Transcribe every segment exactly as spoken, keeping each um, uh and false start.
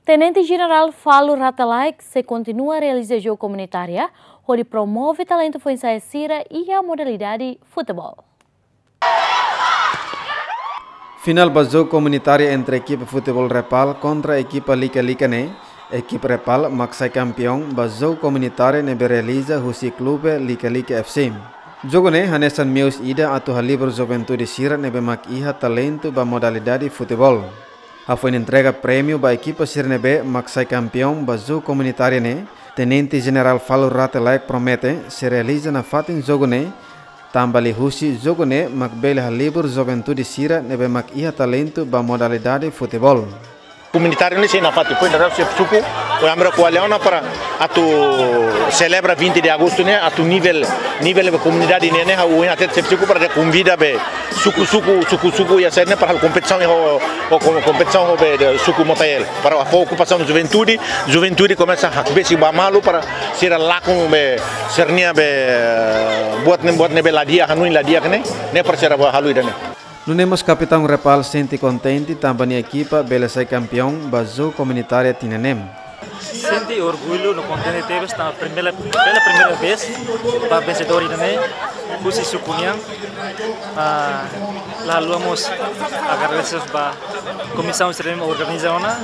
Tenente Jenerál Falur Rate Laek sei kontinua realiza jogu komunitária hodi promove talentu foin-sa'e sira iha modalidade futeból. Final ba jogu komunitária entre ekipa futeból Repal kontra ekipa Lika-Lika ne'e, ekipa Repal mak sai kampiaun ba jogu komunitária ne'ebé realiza husi klube Lika-Lika F C. Jogu ne'e hanesan meius ida atu halibur juventude sira ne'ebé mak iha talentu ba modalidade futeból. Hafoin entrega prémiu ba ekipa sira ne'ebé mak sai kampiaun ba jogu komunitária ne'e, Tenente Jenerál Falur Rate Laek promete sei realiza nafatin jogu ne'e, tanba liuhusi jogu ne'e mak bele halibur juventude sira ne'ebé mak iha talentu ba modalidade futeból. Komunitária ne'e sei nafatin, foin dadauk xefe suku, o amra ko'alia ona para atu selebra vinte de agostu ne'e, atu nivel, nivel be komunidade ne'e, ne'e, ha'u ohin hatete xefe suku para konvida be suku-suku, suku-suku iha sira ne'e para halo kompetisaun ho, ho kom-, kompetisaun ho be de suku Motael. Para fó okupasaun juventude, juventude komesa hakbesik ba malu para sira lakon be sira-nia be, eh, buat ne'e, buat ne'ebé la di'ak, hanoin la di'ak ne'e, ne'e para sira bá halo ida-ne'e. Nune'e mós kapitaun Repal sente kontente tanba nia ekipa bele sai kampiaun ba jogu komunitária tinan neen. Sente orgullu no kontente tebes tanba primeira, pela primeira vez ba vensedór ida-ne'e, husi suku nian. Ah, la haluha mós agradese ba komisaun sira ne'ebé organiza ona.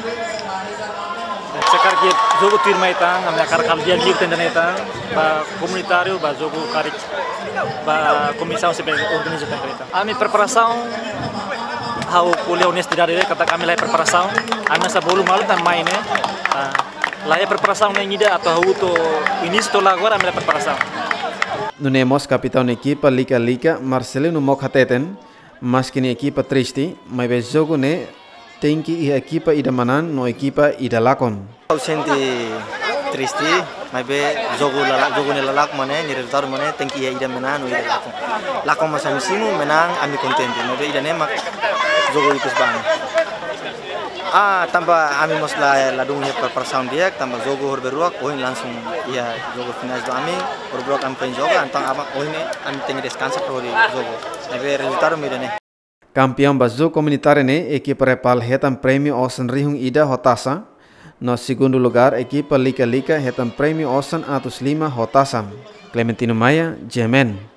Se karik jogu tuirmai tan, ami hakarak halo di'ak liu tan ida-ne'e tan, ba komunitáriu, ba jogu karik, ba komisaun sira ne'ebé organiza tan ida-ne'e tan. Ami preparasaun, ha'u ko'alia onestidade de'it katak ami la iha preparasaun, ami hanesan bolu malu tan mai ne'e. Ah, la iha preparasaun na'in ida atu hahú to'o inísiu to'o la agora ami la iha preparasaun. Nune'e mós kapitaun ekipa Lika-Lika, Marcelino Mok hateten, maski nia ekipa triste, maibé jogu ne'e tenke iha ekipa ida manán no ekipa ida lakon. Ha'u sente triste, maibé jogu la la-, jogu ne'e la lakon mak ne'e, nia rezultadu mak ne'e, tenke iha ida manán no ida lakon. Lakon mak ami simu, manán ami kontente, maibé ida-ne'e mak jogu ikus ba ami. Ah, tanba ami mós la, ladún iha preparasaun di'ak, tanba jogu horberuak, ohin langsung iha jogu finais ba ami, horberuak ami foin joga, entaun aban ohin ne'e ami tenke deskansa para hodi jogu. Maibé rezultadu mak ida-ne'e. Kampiaun ba jogu komunitária ne'e, ekipa Repal hetan prémiu osan rihun ida ho tasa. No segundu lugár, ekipa Lika-Lika hetan prémiu osan atus lima ho tasa. Clementino Maia, G M N.